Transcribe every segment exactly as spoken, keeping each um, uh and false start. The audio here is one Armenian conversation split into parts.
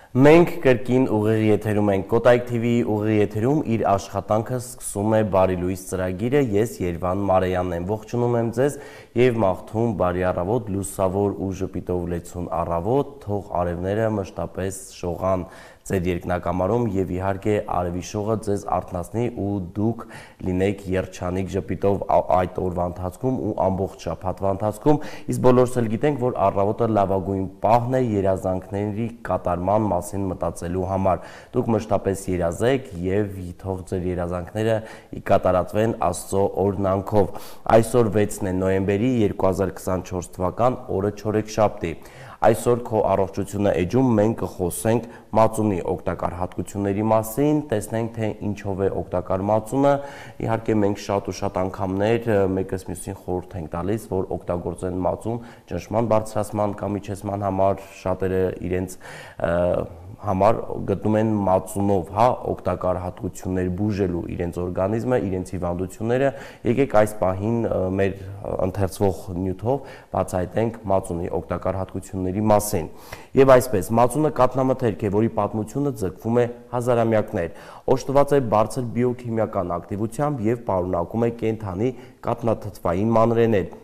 Մենք կրկին ուղիղ եթերում ենք, Կոտայք թիվի ուղիղ եթերում իր աշխատանքը սկսում է Բարի լույս ծրագիրը, ես Երվան Մարեյանն եմ, ողջունում եմ ձեզ և մաղթում բարի առավոտ, լուսավոր ու ժպիտով լեցուն առավոտ, թող արևները մշտապես շողան ձեր երկնակամարում և իհարկե արևի շողը ձեզ արթնացնի ու դուք լինեք երջանիկ ժպիտով այդ օրվա ընթացքում ու ամբողջ շաբաթվա ընթացքում, իսկ բոլորս էլ գիտենք, որ առավոտը լավագույն պահն է երազանքների կատարման մասին մտածելու համար։ Դուք մշտապես երազեք և թող ձեր երազանքները կատարածվեն Աստծո օրհնանքով։ Այսօր վեցն է նոյեմբերի երկու հազար քսանչորս թվական, օրը չորեքշաբթի։ Այսօր քո առողջությունը էջում մենք կխոսենք մածունի օգտակար հատկությունների մասին, տեսնենք թե ինչով է օգտակար մածունը, իհարկե մենք շատ ու շատ անգամներ մեկս մյուսին խորհուրդ ենք տալիս, որ օգտագործեն մածուն ճնշման բարձրացման կամ իջեցման համար, շատերը իրենց համար գտնում են մածունով, հա, օգտակար հատկություններ բուժելու իրենց օրգանիզմը, իրենց հիվանդությունները, եկեք այս պահին մեր ընթերցվող նյութով բացահայտենք մածունի օգտակար հատկությունների մասին։ Եվ այսպես, մածունը կաթնամթերք է, որի պատմությունը ձգվում է հազարամյակներ, օժտված է բարձր բիոքիմիական ակտիվությամբ և պարունակում է կենդանի կաթնաթթվային մանրէներ,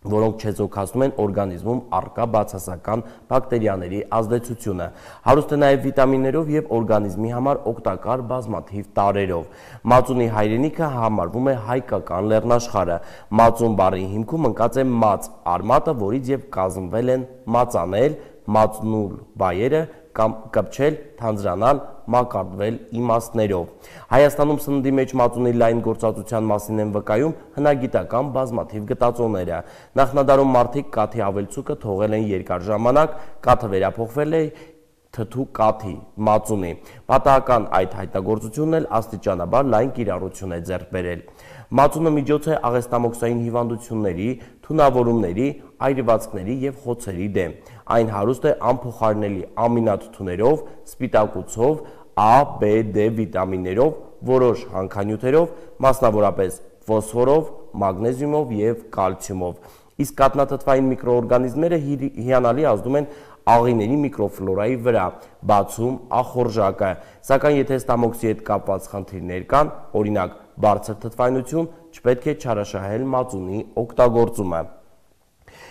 որոնք չեզոքացնում են օրգանիզմում առկա բացասական բակտերիաների ազդեցությունը, հարուստ է նաև վիտամիններով և օրգանիզմի համար օգտակար բազմաթիվ տարրերով։ Մածունի հայրենիքը համարվում է հայկական լեռնաշխարհը։ Մածուն բառի հիմքում ընկած է մաց արմատը, որից և կազմվել են մածանել, մածնուլ բայերը, կամ կպչել, թանձրանալ, մակարդվել իմաստներով։ Հայաստանում սննդի մեջ մածունի լայն գործածության մասին են վկայում հնագիտական բազմաթիվ գտածոները։ Նախնադարում մարդիկ կաթի ավելցուկը թողել են երկար ժամանակ, կաթը վերափոխվել է թթու կաթի, մածունի։ Պատահական այդ հայտնագործությունն էլ աստիճանաբար լայն կիրառություն է ձեռք բերել։ Մածունը միջոց է աղեստամոքսային հիվանդությունների, թունավորումների, այրվածքների և խոցերի դեմ։ Այն հարուստ է անփոխարինելի ամինաթթուներով, սպիտակուցով, A, B, D վիտամիններով, որոշ հանքանյութերով, մասնավորապես ֆոսֆորով, մագնեզիումով և կալցիումով։ Իսկ կաթնաթթվային միկրոօրգանիզմները հիանալի ազդում են աղիների միկրոֆլորայի վրա, բացում ախորժակը, սակայն եթե ստամոքսի հետ կապված խնդիրներ կան, օրինակ բարձր թթվայնություն, չպետք է չարաշահել մածունի օգտագործումը։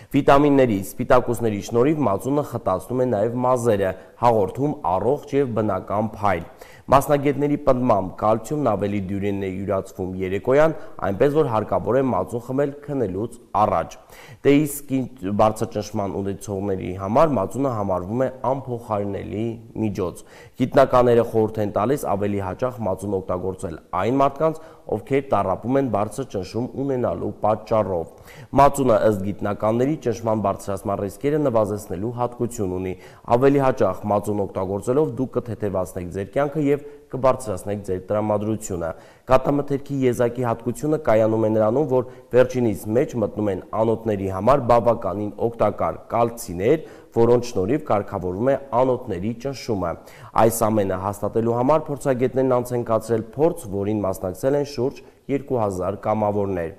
Վիտամինների, սպիտակուցների շնորհիվ մածունը խտացնում է նաև մազերը, հաղորդում առողջ և բնական փայլ։ Մասնագետների պնդմամբ կալցիումն ավելի դյուրին է յուրացվում երեկոյան, այնպես որ հարկավոր է մածուն խմել քնելուց առաջ։ Դե իսկ բարձր ճնշման ունեցողների համար մածունը համարվում է անփոխարինելի միջոց։ Գիտնականները խորհուրդ են տալիս ավելի հաճախ մածուն օգտագործել այն մարդկանց, ովքեր տառապում են բարձր ճնշում ունենալու պատճառով։ Մածունը ըստ գիտնականների ճնշման բարձրացման ռիսկերը նվազեցնելու հատկություն ունի։ Ավելի հաճախ մածուն օգտագործելով դուք կթեթևացնեք ձեր կյանքը և կբարձրացնեք ձեր տրամադրությունը։ Կաթնամթերքի եզակի հատկությունը կայանում է նրանում, որ վերջինիս մեջ մտնում են անոթների համար բավականին օգտակար կալցիներ, որոնց շնորհիվ կարգավորվում է անոթների ճնշումը։ Այս ամենը հաստատելու համար փորձագետներն անց են կացրել փորձ, որին մասնակցել են շուրջ երկու հազար կամավորներ։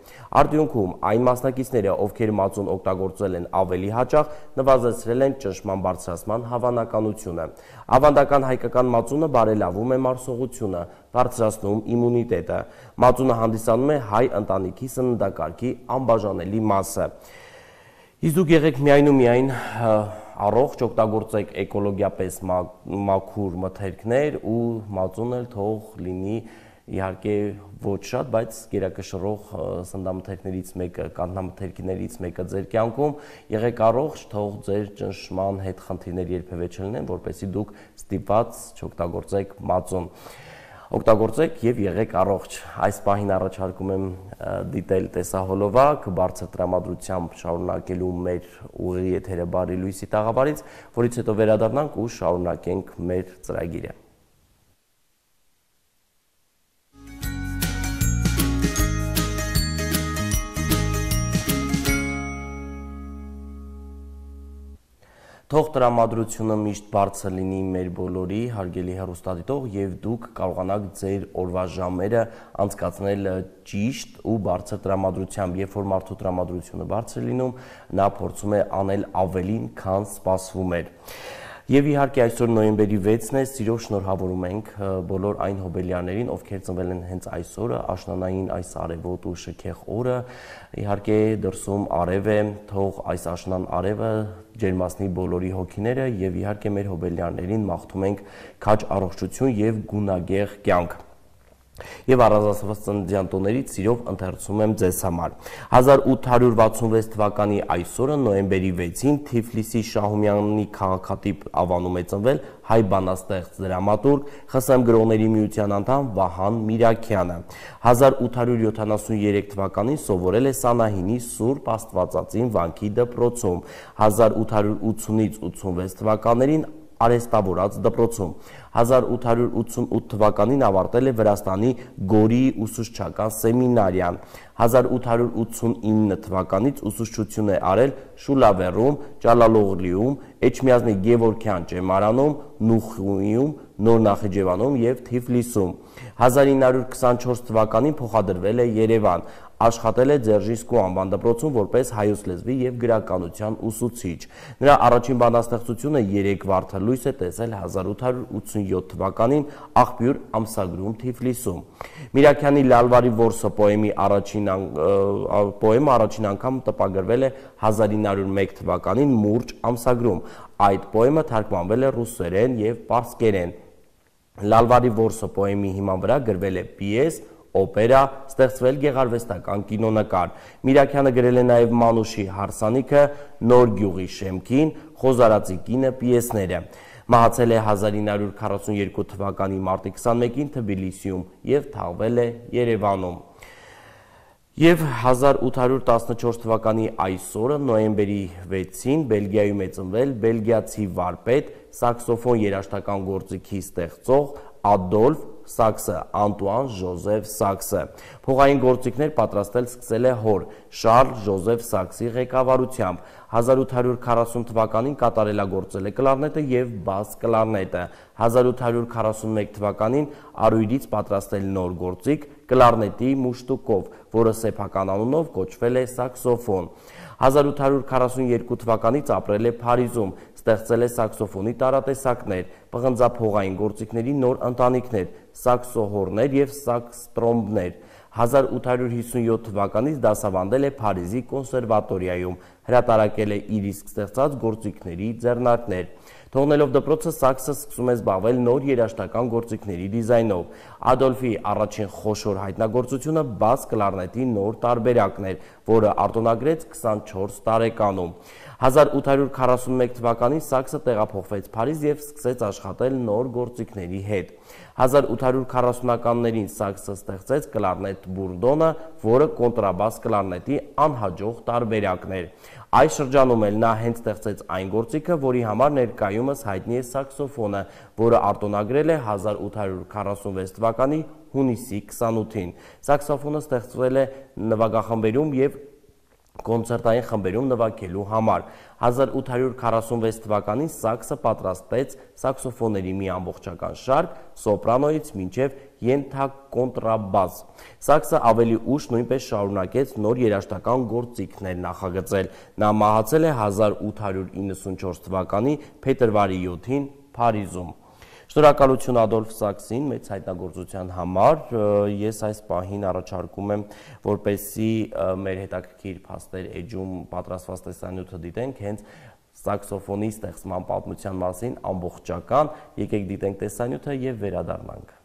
Արդյունքում այն մասնակիցները, ովքեր մածուն օգտագործել են ավելի հաճախ, նվազեցրել են ճնշման բարձրացման հավանականությունը։ Ավանդական հայկական մածունը բարելավում է մարսողությունը, բարձրացնում իմունիտետը։ Մածունը հանդիսանում է հայ ընտանիքի սննդակարգի անբաժանելի մասը։ Իսկ դուք եղեք միայն ու միայն առողջ, օգտագործեք էկոլոգիապես մաքուր մթերքներ ու մածունը թող լինի իհարկե ոչ շատ, բայց գերակշռող սննդամթերքներից մեկը, կաթնամթերքներից մեկը ձեր կյանքում, եղեք առողջ, թող ձեր ճնշման հետ խնդիրներ երբևէ չլինեն, որպեսզի դուք ստիպված չօգտագործեք մածուն։ Օգտագործեք և եղեք առողջ։ Այս պահին առաջարկում եմ դիտել տեսահոլովակ, բարձր տրամադրությամբ շարունակելու մեր ուղիղ եթերը Բարի լույսի տաղավարից, որից հետո վերադառնանք ու շարունակենք մեր ծրագիրը։ Թող տրամադրությունը միշտ բարձր լինի մեր բոլորի, հարգելի հեռուստադիտող, և դուք կարողանաք ձեր օրվա ժամերը անցկացնել ճիշտ ու բարձր տրամադրությամբ, երբ որ մարդու տրամադրությունը բարձր լինում, նա փորձում է անել ավելին, քան սպասվում էր։ Եվ իհարկե այսօր նոյեմբերի վեցն է, սիրով շնորհավորում ենք բոլոր այն հոբելյաներին, ովքեր ծնվել են հենց այսօրը, աշնանային այս արևոտ ու շքեղ օրը, իհարկե դրսում արև է, թող այս աշնան արևը ջերմացնի բոլորի հոգիները եւ իհարկե մեր հոբելյաներին մաղթում ենք քաջ առողջություն եւ գունագեղ կյանք։ Եվ առանձնացված ծննդյան տոներից սիրով ընթերցում եմ ձեզ համար։ հազար ութ հարյուր վաթսունվեց թվականի այսօրը նոյեմբերի վեցին Թիֆլիսի Շահումյանի քաղաքատիպ ավանում է ծնվել հայ բանաստեղծ դրամատուրգ, ԽՍՀՄ գրողների միության անդամ Վահան Միրաքյանը։ հազար ութ հարյուր յոթանասուներեք թվականին սովորել է Սանահինի Սուրբ Աստվածածին վանքի դպրոցում, հազար ութ հարյուր ութսունից ութսունվեց թվականներին արեստավորած դպրոցում, հազար ութ հարյուր ութսունութ թվականին ավարտել է Վրաստանի Գորիի ուսուցչական սեմինարիան, հազար ութ հարյուր ութսունինը թվականից ուսուցչություն է արել Շուլավերում, Ճալալօղլիում, Էջմիածնի Գևորգյան ճեմարանում, Նուխիում, Նոր Նախիջևանում եւ Թիֆլիսում, հազար ինը հարյուր քսանչորս թվականին փոխադրվել է Երևան, աշխատել է Ձերժինսկու անվան դպրոցում որպես հայոց լեզվի եւ գրականության ուսուցիչ։ Նրա առաջին բանաստեղծությունը երեք վարդալույս է տեսել հազար ութ հարյուր ութսունյոթ թվականին Աղբյուր ամսագրում Թիֆլիսում։ Միրաքյանի Լալվարի որսը պոեմի առաջին պոեմը առաջին անգամ տպագրվել է հազար ինը հարյուր մեկ թվականին Մուրճ ամսագրում։ Այդ պոեմը թարգմանվել է ռուսերեն եւ պարսկերեն։ Լալվարի որսը պոեմի հիման վրա գրվել է պիես, օպերա, ստեղծվել գեղարվեստական կինոնկար։ Միրաքյանը գրել է նաև Մանուշի հարսանիքը, Նոր գյուղի շեմքին, Խոզարածի կինը պիեսները։ Մահացել է հազար ինը հարյուր քառասունյոթ թվականի մարտի քսանմեկին Թբիլիսիում եւ թաղվել է Երևանում։ Եվ հազար ութ հարյուր տասնչորս թվականի այսօրը նոյեմբերի վեցին Բելգիայում է ծնվել բելգիացի վարպետ, սաքսոֆոն երաժշտական գործիքի ստեղծող Ադոլֆ Սաքսը, Անտուան Ժոզեֆ Սաքսը։ Փողային գործիքներ պատրաստել սկսել է հոր Շարլ Ժոզեֆ Սաքսի ղեկավարությամբ։ հազար ութ հարյուր քառասուն թվականին կատարելագործել է կլարնետը եւ բաս կլարնետը։ հազար ութ հարյուր քառասունմեկ թվականին արույրից պատրաստել նոր գործիք կլարնետի մուշտուկով, որը սեփական անունով կոչվել է սաքսոֆոն։ հազար ութ հարյուր քառասունյոթ թվականից ապրել է Փարիզում, ստեղծել է սաքսոֆոնի տարատեսակներ, պղնձափողային գործիքների նոր ընտանիքներ, սաքսոհորներ եւ սաքստրոմբներ։ հազար ութ հարյուր հիսունյոթ թվականից դասավանդել է Փարիզի կոնսերվատորիայում, հրատարակել է իր իսկ ստեղծած գործիքների ձեռնարկներ։ Թողնելով դպրոցը Սաքսը սկսում է զբաղվել նոր երաժշտական գործիքների դիզայնով։ Ադոլֆի առաջին խոշոր հայտնագործությունը բաս կլարնետի նոր տարբերակն էր, որը արտոնագրեց քսանչորս տարեկանում։ հազար ութ հարյուր քառասունմեկ թվականին Սաքսը տեղափոխվեց Փարիզ եւ սկսեց աշխատել նոր գործիքների հետ։ հազար ութ հարյուր քառասունականներին Սաքսը ստեղծեց կլարնետ Բուրդոնը, որը կոնտրաբաս կլարնետի անհաջող տարբերակն էր։ Այս շրջանում էլ նա հենց ստեղծեց այն գործիքը, որի համար ներկայումս հայտնի է սաքսոֆոնը, որը արտոնագրել է հազար ութ հարյուր քառասունվեց թվականի հունիսի քսանութին։ Սաքսոֆոնը ստեղծվել է նվագախմբերում եւ կոնցերտային խմբերում նվագելու համար։ հազար ութ հարյուր քառասունվեց թվականին Սաքսը պատրաստեց սաքսոֆոնների մի ամբողջական շարք սոպրանոից մինչև ենթակոնտրաբաս։ Սաքսը ավելի ուշ նույնպես շարունակեց նոր երաժշտական գործիքներ նախագծել։ Նա մահացել է հազար ութ հարյուր իննսունչորս թվականի փետրվարի յոթին Փարիզում։ Շնորհակալություն Ադոլֆ Սաքսին մեծ հայտնագործության համար։ Ես այս պահին առաջարկում եմ, որպեսզի մեր հետաքրքիր փաստեր էջում պատրաստված տեսանյութը դիտենք հենց սաքսոֆոնի ստեղծման պատմության մասին ամբողջական։ Եկեք դիտենք տեսանյութը եւ վերադառնանք։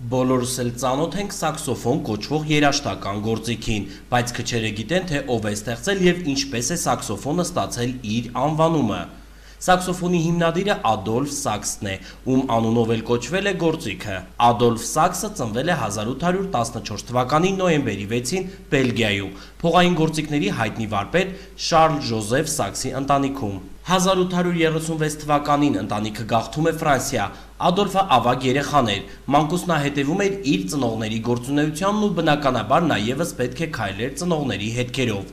Բոլորս էլ ծանոթ ենք սաքսոֆոն կոչվող երաժշտական գործիքին, բայց քչերը գիտեն, թե ով է ստեղծել եւ ինչպես է սաքսոֆոնը ստացել իր անվանումը։ Սաքսոֆոնի հիմնադիրը Ադոլֆ Սաքսն է, ում անունով էլ կոչվել է գործիքը։ Ադոլֆ Սաքսը ծնվել է հազար ութ հարյուր տասնչորս թվականի նոյեմբերի վեցին Բելգիայում, փողային գործիքների հայտնի վարպետ Շարլ Ժոզեֆ Սաքսի ընտանիքում։ հազար ութ հարյուր երեսունվեց թվականին ընտանիքը գաղթում է Ֆրանսիա։ Ադոլֆը ավագ երեխան էր, մանկուց նա հետևում էր իր ծնողների գործունեությանն ու բնականաբար նա ևս պետք է քայլեր ծնողների հետքերով։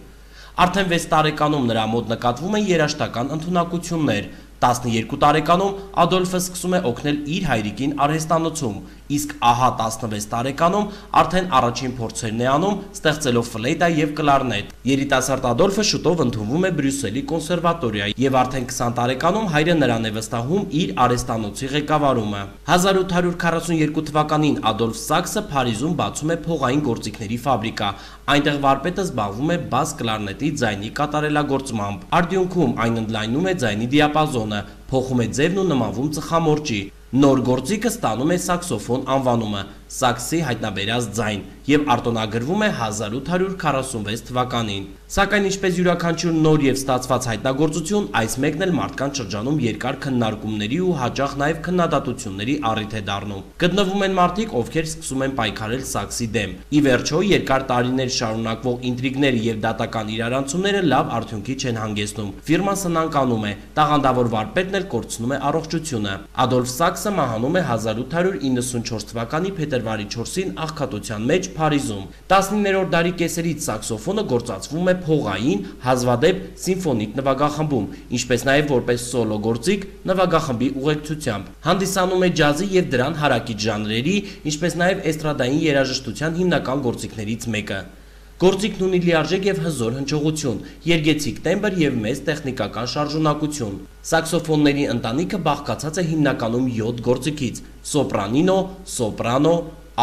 Արդեն վեց տարեկանում նրա մոտ նկատվում են երաժշտական ընդունակություններ։ տասնյոթ տարեկանում Ադոլֆը սկսում է օգնել իր հայրիկին արհեստանոցում, իսկ ահա տասնվեց տարեկանում արդեն առաջին փորձերն է անում, ստեղծելով ֆլեյտա եւ կլարնետ։ Երիտասարդ Ադոլֆը շուտով ընդունվում է Բրյուսելի կոնսերվատորիա եւ արդեն քսան տարեկանում հայրը նրան է վստահում իր արհեստանոցի ղեկավարումը։ հազար ութ հարյուր քառասունյոթ թվականին Ադոլֆ Սաքսը Փարիզում բացում է փողային գործիքների ֆաբրիկա։ Այնտեղ վարպետը զբաղվում է բաս կլարնետի ձայնի կատարելագործմամբ։ Արդյունքում այն ընդլայնում է ձայնի դիապազոնը, փոխում է ձևն ու նմանվում ծխամորճի։ Նոր գործիքը ստանում է սաքսոֆոն անվանումը, սաքսի հայտնաբերած ձայն, եւ արտոնագրվում է հազար ութ հարյուր քառասունվեց թվականին։ Սակայն ինչպես յուրաքանչյուր նոր եւ ստացված հայտնագործություն, այս մեկն էլ մարդկանց շրջանում երկար քննարկումների ու հաճախ նաեւ քննադատությունների առիթ է դառնում։ Գտնվում են մարդիկ, ովքեր սկսում են պայքարել սաքսի դեմ։ Ի վերջո, երկար տարիներ շարունակվող ինտրիգները եւ դատական իրարանցումները լավ արդյունքի չեն հանգեցնում։ Ֆիրման սնանկանում է, տաղանդավոր վարպետն էլ կորցնում է առողջությունը։ Ադոլֆ Սաքսը մահանում է հազար ութ հարյուր իննսունչորս թվականի փետրվարի չորսին աղքատության մեջ Փարիզում։ տասնիններորդ դարի կեսերից սաքսոֆոնը գործածվում է փողային, հազվադեպ սիմֆոնիկ նվագախմբում, ինչպես նաև որպես սոլո գործիք նվագախմբի ուղեկցությամբ։ Հանդիսանում է ջազի եւ դրան հարակից ժանրերի, ինչպես նաև էստրադային երաժշտության հիմնական գործիքներից մեկը։ Գործիքն ունի լիարժեք եւ հզոր հնչողություն, երգեցիկ տեմբր եւ մեծ տեխնիկական շարժունակություն։ Սաքսոֆոնների ընտանիքը բաղկացած է հիմնականում յոթ գործիքից՝ սոպրանինո, սոպրանո,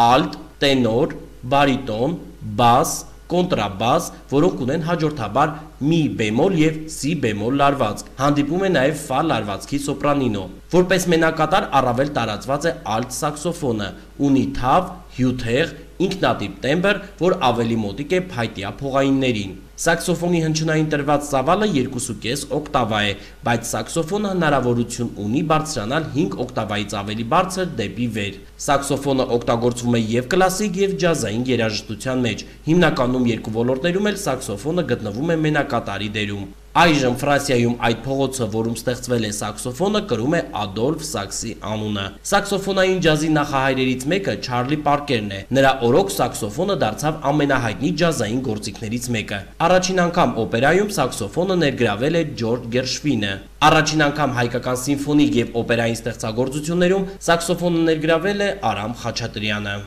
ալտ, տենոր, բարիտոն, բաս, կոնտրաբաս, որոնք ունեն հաջորդաբար մի բեմոլ եւ սի բեմոլ լարվածք։ Հանդիպում է նաեւ ֆա լարվածքի սոպրանինո։ Որպես մենակատար առավել տարածված է ալտ սաքսոֆոնը, ունի թավ, հյութեղ, ինքնատիպ տեմբր, որ ավելի մոտիկ է փայտյա փողայիններին։ Սաքսոֆոնի հնչյունային տրված ծավալը երկու կես օկտավա է, բայց սաքսոֆոնը հնարավորություն ունի բարձրանալ հինգ օկտավայից ավելի բարձր դեպի վեր։ Սաքսոֆոնը օգտագործվում է եւ կլասիկ եւ ջազային երաժշտության մեջ։ Հիմնականում երկու ոլորտներում էլ սաքսոֆոնը գտնվում է մենակատարի դերում։ Այժմ Ֆրանսիայում այդ փողոցը, որում ստեղծվել է սաքսոֆոնը, կրում է Ադոլֆ Սաքսի անունը։ Սաքսոֆոնային ջազի նախահայրերից մեկը Չարլի Պարկերն է։ Նրա օրոք սաքսոֆոնը դարձավ ամենահայտնի ջազային գործիքներից մեկը։ Առաջին անգամ օպերայում սաքսոֆոնը ներգրավել է Ջորջ Գերշվինը։ Առաջին անգամ հայկական սիմֆոնիկ եւ օպերային ստեղծագործություններում սաքսոֆոնը ներգրավել է Արամ Խաչատրյանը։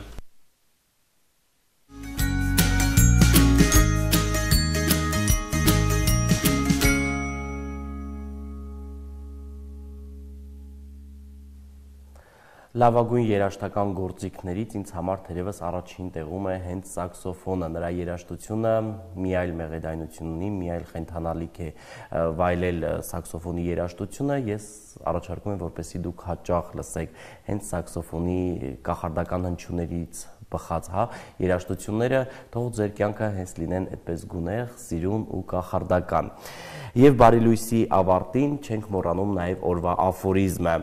Լավագույն երաժշտական գործիքներից ինձ համար թերևս առաջին տեղում է հենց սաքսոֆոնը, նրա երաժշտությունը մի այլ մեղեդայնություն ունի, մի այլ խենթանալիք է վայելել սաքսոֆոնի երաժշտությունը, ես առաջարկում եմ, որպեսզի դուք հաճախ լսեք հենց սաքսոֆոնի կախարդական հնչյուններից բխած, հա, երաժշտությունները, թող ձեր կյանքը հենց լինեն այդպես գունեղ, սիրուն ու կախարդական։ Եվ բարի լույսի ավարտին չենք մոռանում նաև օրվա աֆորիզմը։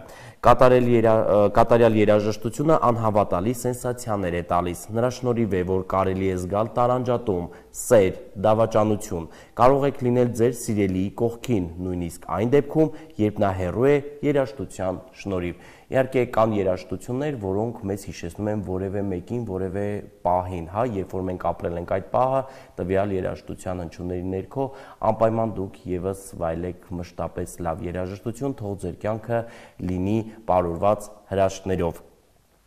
Կատարյալ երաժշտությունը անհավատալի սենսացիաներ է տալիս։ Նրա շնորհիվ է, որ կարելի է զգալ տարանջատում, սեր, դավաճանություն։ Կարող եք լինել ձեր սիրելիի կողքին, նույնիսկ այն դեպքում, երբ նա հեռու է երաժշտության շնորհիվ։ Իհարկե կան երաժշտություններ, որոնք մեզ հիշեցնում են որևէ մեկին, որևէ պահին, հա, երբ որ մենք ապրել ենք այդ պահը, տվյալ երաժշտության հնչյունների ներքո, անպայման դուք եւս վայելեք մշտապես լավ երաժշտություն, թող ձեր կյանքը լինի պարուրված հրաշքներով։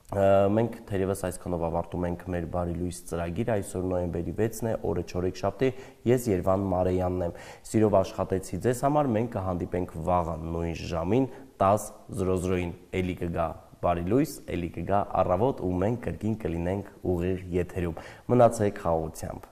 Մենք թերևս այսքանով ավարտում ենք մեր բարի լույս ծրագիրը, այսօր նոյեմբերի վեցն է, օրը չորեքշաբթի, ես Երվան Մարեյանն եմ։ Սիրով աշխատեցի ձեզ համար, մենք կհանդիպենք վաղը նույն ժամին տասը զրո զրոին, էլի կգա բարի լույս, էլի կգա առավոտ ու մենք կրկին կլինենք ուղիղ եթերում։ Մնացեք խաղաղությամբ։